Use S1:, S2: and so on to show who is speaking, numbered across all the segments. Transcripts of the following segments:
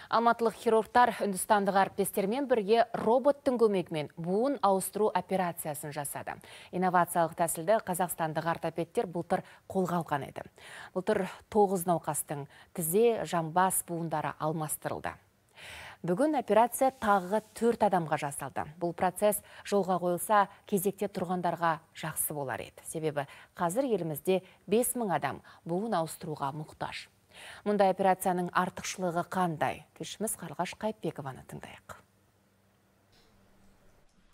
S1: Алматылық хирургтар үндістандық әріптестермен бірге роботтың көмегімен буын ауыстыру операциясын жасады. Инновациялық тәсілді қазақстандық ортопедтер былтыр қолға алған еді. Былтыр 9 науқастың тізе, жамбас буындары алмастырылды. Бүгін операция тағы 4 адамға жасалды. Бұл процесс жолға қойылса, кезекте тұрғандарға жақсы болар еді. Себебі қазір елімізде 5000 адам буын ауыстыруға мұқтаж. Мұндай операцияның артықшылығы қандай? Тілшіміз Қарлығаш Қайыпбекованы тыңдайық.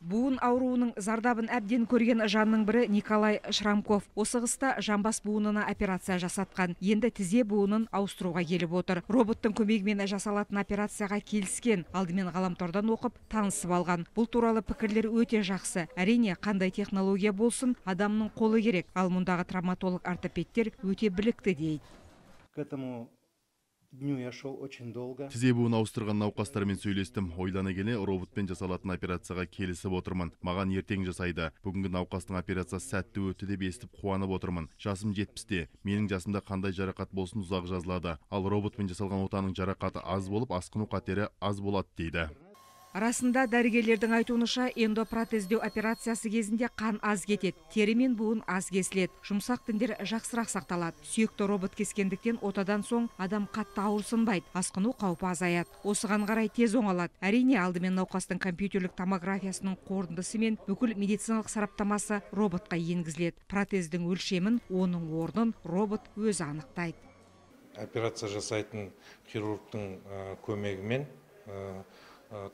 S2: Буын ауруының зардабын әбден көрген жанның бірі Николай Шрамков. Осы қыста жамбас буынына операция жасатқан. Енді тізе буынын ауыстыруға келіп отыр. Роботтың көмегімен жасалатын операцияға келіскен. Алдымен ғаламтордан оқып, танысып алған. Бұл туралы пікірлер өте жақсы. Әрине, қандай технология болсын, адамның қолы керек. Ал мұндағы травматолог ортопедтер өте білікті дейді.
S3: К этому дню я шел очень долго.
S4: Тізе буын ауыстырған науқастармен сөйлестім. Ойлана келе роботпен жасалатын операцияға келісіп отырмын. Маған ертең жасайды. Бүгінгі науқастың операциясы сәтті өтті деп естіп қуанып отырмын. Жасым 70-те. Менің жасымда қандай жарақат болсын ұзақ жазылады. Ал роботпен жасалған отаның жарақаты аз болып, асқыну қатері аз болады дейді.
S2: Арасында дәрігерлердің айтуынша эндопротездеу операциясы кезінде қан аз кетеді, тері мен буын аз кесіледі, жұмсақ тіндер жақсырақ сақталады. Сүйекті робот кескендіктен отадан соң адам қатты ауырсынбайды, асқыну қаупі азаяды. Осыған қарай тез оңалады. Әрине, алдымен науқастың компьютерлік томографиясының қорытындысы мен бүкіл медициналық сараптамасы роботқа енгізіледі. Протездің өлшемін, оның орнын робот өзі анықтайды.
S5: Операция жасайтын хирургтың көмегімен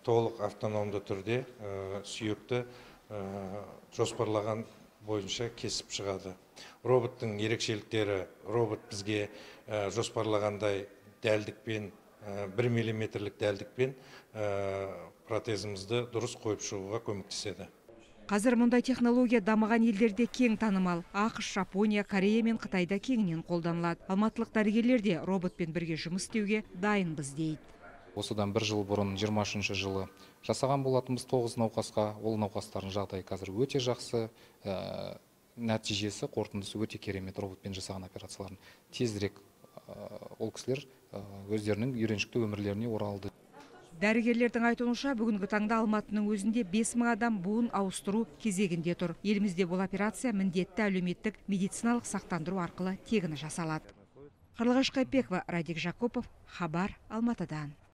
S5: толық автономды түрде сүйекті жоспарлаған бойынша кесіп шығады. Роботтың ерекшеліктері, робот бізге жоспарлағандай дәлдікпен, 1 миллиметрлік дәлдікпен протезімізді дұрыс қойып шығуға көмектеседі.
S2: Қазір мұндай технология дамыған елдерде кең танымал. ақш, Жапония, Корея мен Қытайда кеңінен қолданылады. Алматылық дәрігерлер де роботпен бірге жұмыс істеуге дайынбыз дейді.
S6: Осыдан 1 жыл бұрын 23 жылы жасаған болатынбыз 9 науқасқа. Ол науқастардың жағдайы қазір өте жақсы, нәтижесі, қорытындысы өте керемет. Роботпен жасаған операцияларын тезірек ол кісілер өздерінің үйреншікті өмірлеріне оралды.
S2: Дәрігерлердің айтуынша бүгінгі таңда Алматының өзінде 5000 адам буын ауыстыру кезегінде тұр. Елімізде бұл операция міндетті әлеуметтік медициналық сақтандыру арқылы тегін жасалады. Қарлығаш Қайыпбекова, Радик Жакупов, Хабар, Алматыдан.